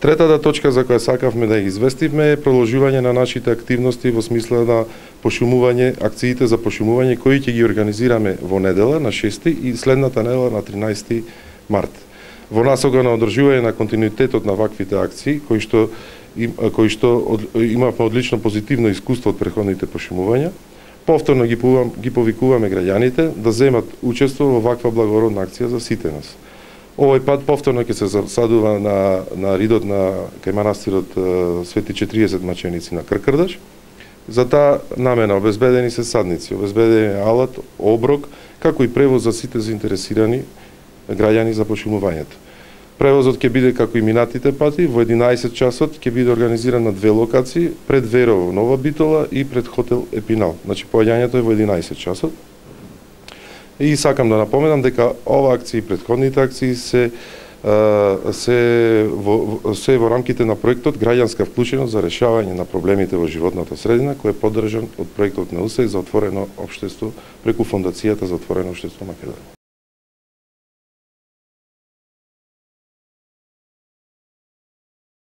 Третата точка за која сакавме да ги известиме е продолжување на нашите активности во смисла на пошумување, акциите за пошумување кои ќе ги организираме во недела на 6 и следната недела на 13 март. Во насока на одржување на континуитетот на ваквите акции, кои што имавме одлично позитивно искуство од претходните пошумувања, повторно ги повикуваме граѓаните да земат учество во ваква благородна акција за сите нас. Овој пат повторно ќе се засадува на ридот на кај манастирот Свети 40 маченици на Кркрдаш. За таа намена обезбедени се садници, обезбедени алат, оброк, како и превоз за сите заинтересирани граѓани за пошумувањето. Превозот ќе биде како и минатите пати, во 11 часот ќе биде организиран на две локации, пред Верово, Нова Битола и пред хотел Епинал. Значи поаѓањето е во 11 часот. И сакам да напоменам дека ова акција и претходните акции се во рамките на проектот Граѓанска вклученост за решавање на проблемите во животната средина, кој е поддржан од проектот на УСАИД за отворено општество преку Фондацијата за отворено општество Македонија.